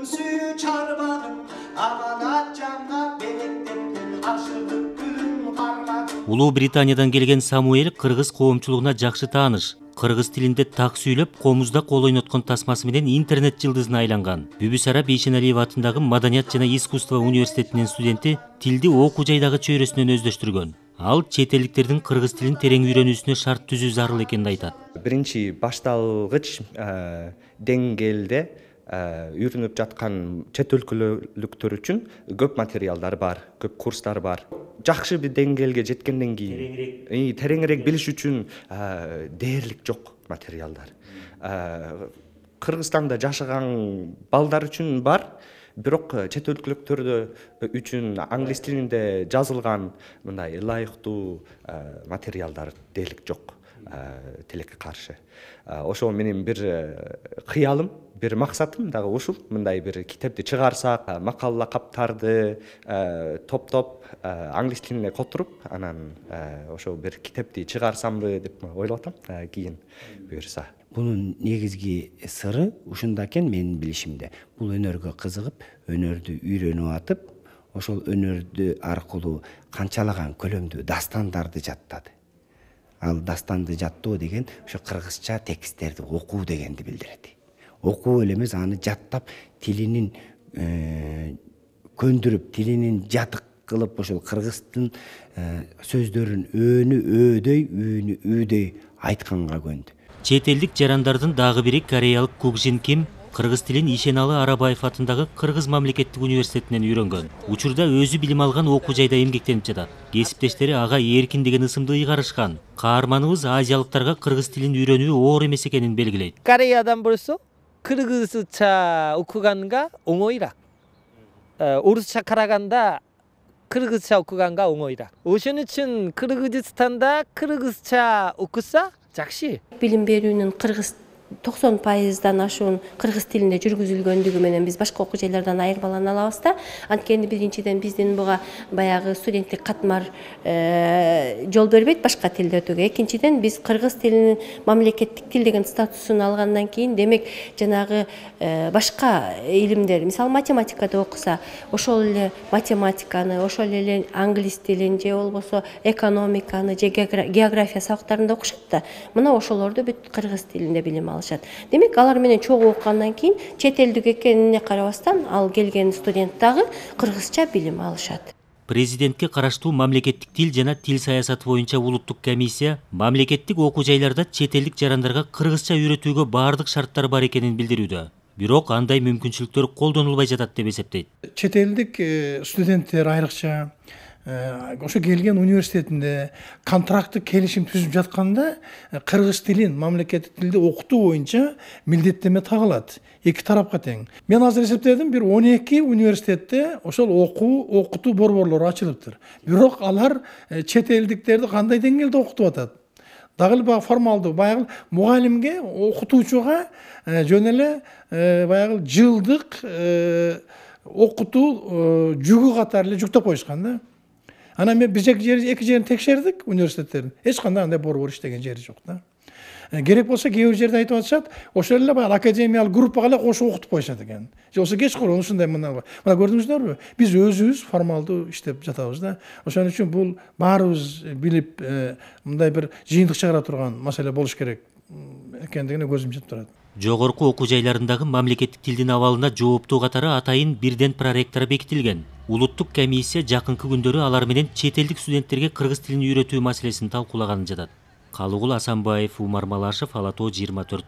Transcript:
көбүсү чарбадым, аманат жанга белектептен ашыгып күн кармадым. Улуу Британиядан келген Самуэль кыргыз коомчулугуна жакшы тааныш. Кыргыз тилинде так сүйлөп, комузда кол ойноткон тасмасы менен интернет жылдызына айланган. Бүбүсара Бейшеналиева атындагы Маданият жана искусство университетинин студенти тилди окуу жайдагы чөйрөсүнөн өздөштүргөн. Ал чет элдиктердин кыргыз тилин терең үйрөнүүсүнө шарт түзүү зарыл экенин айтат. Биринчи башталгыч деңгээлде үйрөнүп жаткан чет өлкөлүктөр үчүн көп материалдар бар, көп курстар бар. Жакшы бир деңгээлге жеткенден кийин тереңирээк билиш үчүн дээрлик жок материалдар. Кыргызстанда жашаган балдар үчүн бар, бирок чет өлкөлүктөр үчүн англис тилинде жазылган мындай ылайыктуу материалдар дээрлик жок. Тилекке каршы. Ошо менин бир кыялым, бир максатым дагы ушул. Мындай бир китепти чыгарсак, макала каптарды топтоп англис тилине которуп, анан ошо бир китепти чыгарсамбы деп ойлоп атам, кийин буюрса. Бунун негизги сыры ушунда экен менин билишимде. Бул өнөргө кызыгып, өнөрдү үйрөнүп атып, ошол өнөрдү аркылуу канчалаган көлөмдүү дастандарды жаттады. Ал дастанды жаттоо деген ошо кыргызча тексттерди окуу дегенди билдирет. Окуу эле эмес, аны жаттап, тилинин көндүрүп, тилинин жатык кылып, ошол кыргыздын сөздөрүн өөнү өөдөй, үйүнү үйдөй айтканга көндү. Чет элдик жарандардын дагы бири кореялык Кукжин Ким кыргыз тилин Ишеналы Арабаев атындагы Кыргыз мамлекеттик университетинен үйрөнгөн. Учурда өзү билим алган окуу жайда эмгектенип жатат. Кесиптештери ага эркин деген ысымды ыйгарышкан. Каарманыбыз азиялыктарга кыргыз тилин үйрөнүү оор эмес экенин белгилейт. Кореядан болсо кыргызча окуганга оңойраак. Орусча караганда кыргызча окуганга оңойраак. Ошон үчүн Кыргызстанда кыргызча окуса жакшы. Билим берүүнүн 90% ашуун кыргыз тилинде жүргүзүлгөндүгү менен биз башка окуу жайлардан айырмалана алабыз да. Анткени биринчиден биздин буга баягы студенттик катмар жол бербейт башка тилде өтүүгө. Экинчиден биз кыргыз тилинин мамлекеттик тил деген статусун алгандан кийин, демек жанагы башка илимдер, мисалы математикада окуса, ошол эле математиканы, ошол эле англис тилин же болбосо экономиканы же география сабактарында окушат да. Мына ошолорду бүт кыргыз тилинде билим алышат. Демек алар менен чогуу окугандан кийин чет элдик экенине карабастан ал келген студент дагы кыргызча билим алышат. Президентке караштуу мамлекеттик тил жана тил саясаты боюнча улуттук комиссия мамлекеттик окуу жайларда чет элдик жарандарга кыргызча үйрөтүүгө баардык шарттар бар экенин билдирүүдө. Бирок андай мүмкүнчүлүктөр колдонулбай жатат деп эсептейт. Чет элдик студенттер айрыкча ошо келген университетинде контракттык келишим түзүп жатканда кыргыз тилин мамлекеттик тилде окутуу боюнча милдеттеме тагылат. Эки тарапка тең. Мен азыр эсептедим, бир 12 университетте ошол окутуу борборлору ачылыптыр. Бирок алар чет элдиктерди кандай деңгээлде окутуп атат? Дагы эле баягы формалдуу, баягы мугалимге, окутуучуга жөн эле баягы жылдык окутуу жүгү катары эле жүктөп коюшкан да. Анан мен бир эки жерин текшердик университеттердин. Эч кандай андай борбор иштеген жери жок да. Керек болсо кээ бир жерде айтып атышат, ошол эле баягы академиялык группага эле кошуп окутуп коюшат экен. Же болсо кечкурун ушундай мына көрдүңүздөрбү? Биз өзүбүз формалдуу иштеп жатабыз да. Ошон үчүн бул баарыбыз билип, мындай бир жыйынтык чыгара турган маселе болуш керек экендигине көзүм жетип турат. Жогорку окуу жайларындагы мамлекеттик тилдин абалына жооптуу катары атайын бирден проректор бекитилген. Улуттук комиссия жакынкы күндөрү алар менен чет элдик студенттерге кыргыз тилин үйрөтүү маселесин талкуулаганы жатат. Калыгул Асанбаев, Умар Малашев, Ала Тоо 24.